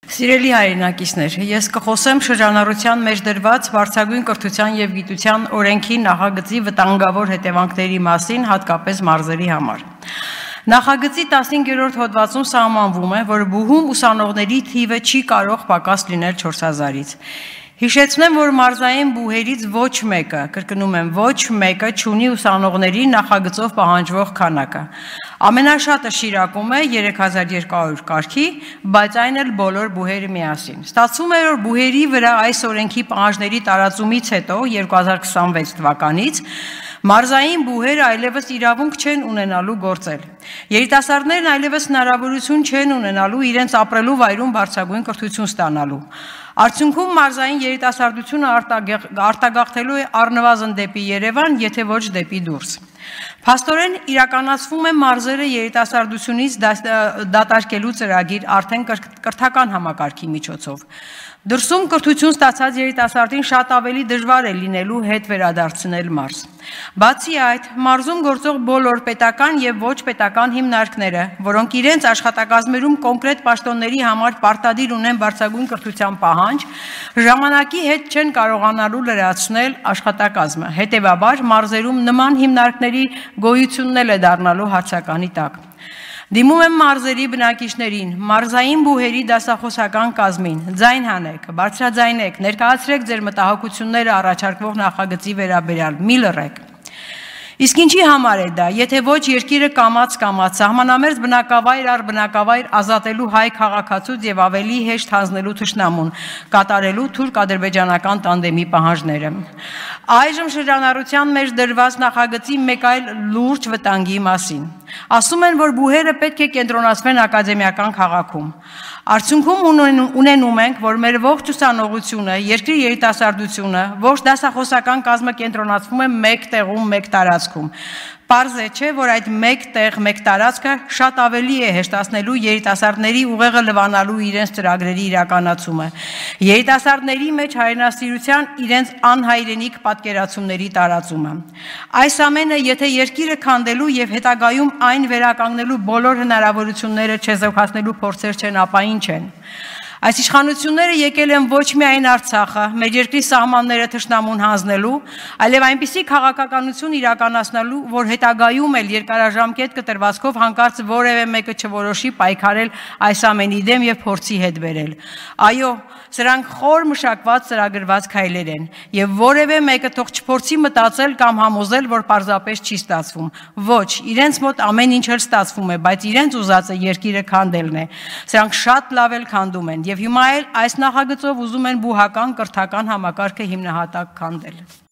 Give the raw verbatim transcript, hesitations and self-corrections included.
Սիրելի հայրենակիցներ, ես կխոսեմ շրջանառության մեջ դրված վարձակույն կրթության և գիտության օրենքի նախագծի վտանգավոր հետևանքների մասին, հատկապես մարզերի համար։ Նախագծի տասնհինգերորդ հոդվածում սահմանվում է, որ բուհում ուսանողների թիվը չի կարող պակաս լինել չորս հազարից։ Հիշեցնեմ, որ մարզային բուհերից ոչ մեկը, կրկնում եմ, ոչ մեկը չունի ուսանողների նախագծով պահանջվող քանակը։ Ամենաշատը Շիրակում է երեք հազար երկու հարյուր կարգի, բայց այն էլ բոլոր բուհերը միասին։ Ստացվում է, որ բուհերի վրա այս օրենքի պահանջների տարածումից հետո երկու հազար քսանվեց թվականից մարզային բուհերը այլևս իրավունք չեն ունենալու գործել։ Երիտասարդներն այլևս հնարավորություն չեն ունենալու իրենց ապրելու վայրում բարձրագույն կրթություն ստանալու։ Արդյունքում մարզային երիտասարդությունը արտագաղթելու է առնվազն դեպի Երևան, եթե ոչ դեպի դուրս։ Փաստորեն իրականացվում է մարզերը երիտասարդությունից դատարկելու ծրագիր արդեն կրթական համակարգի միջոցով։ Դրսում կրթություն ստացած երիտասարդին շատ ավելի դժվար է լինելու հետ վերադարձնել մարզ։ Բացի այդ, մարզում գործող բոլոր պետական և ոչ պետական հիմնարկները, որոնք իրենց աշխատակազմերում կոնկրետ պաշտոնների համար պարտադիր ունեն բարձրագույն կրթության պահանջ, ժամանակի հետ չեն կարողանալու լրացնել աշխատակազմը։ Հետևաբար, մարզերում նման հիմնարկների գոյությունն էլ է դառնալու հարցականի տակ։ Դիմում եմ մարզերի բնակիչներին, մարզային բուհերի դասախոսական կազմին, ձայն հանեք, բարձրաձայնեք, ներկայացրեք ձեր մտահոգությունները առաջարկվող նախագծի վերաբերյալ, մի լռեք։ Իսկ ինչի համար է դա, եթե ոչ երկիրը կամաց-կամաց սահմանամերձ բնակավայր առ բնակավայր ազատելու հայ քաղաքացուց և ավելի հեշտ հանձնելու թշնամուն, կատարելու թուրք-ադրբեջանական տանդեմի պահանջները։ Այժմ շրջանառության մեջ դրված նախագծի մեկ այլ լուրջ վտանգի մասին։ Ասում են, որ բուհերը պետք է կենտրոնացվեն ակադեմիական քաղաքում։ Արդյունքում ունենում ենք, որ մեր ողջ ուսանողությունը, երկրի երիտասարդությունը, ողջ դասախոսական կազմը կենտրոնացվում է մեկ տեղում, մեկ տարածքում։ Պարզ է, չէ, որ այդ մեկ տեղ, մեկ տարածքը շատ ավելի է հեշտացնելու երիտասարդների ուղեղը լվանալու իրենց ծրագրերի իրականացումը, երիտասարդների մեջ հայրենասիրության իրենց անհայրենիք պատկերացումների տարածումը։ Այս ամենը, եթե երկիրը քանդելու և հետագայում այն վերականգնելու բոլոր հնարավորությունները չեզոքացնելու փորձեր չեն, ապա ինչ են։ Այս իշխանությունները եկել են ոչ միայն Արցախը, մեր երկրի սահմանները թշնամուն հանձնելու, այլև այնպիսի քաղաքականություն իրականացնելու, որ հետագայում էլ երկարաժամկետ կտրվածքով հանկարծ որևէ մեկը չորոշի պայքարել այս ամենի դեմ և փորձի հետ բերել։ Այո, սրանք խոր մշակված ծրագրված քայլեր են, և որևէ մեկը թող չփորձի մտածել կամ համոզել, որ պարզապես չի ստացվում։ Ոչ, իրենց մոտ ամեն ինչ էլ ստացվում է, բայց իրենց ուզածը երկիրը քանդելն է։ Սրանք շատ լավ էլ քանդում են, և հիմա էլ այս նախագծով ուզում են բուհական կրթական համակարգը հիմնահատակ քանդել։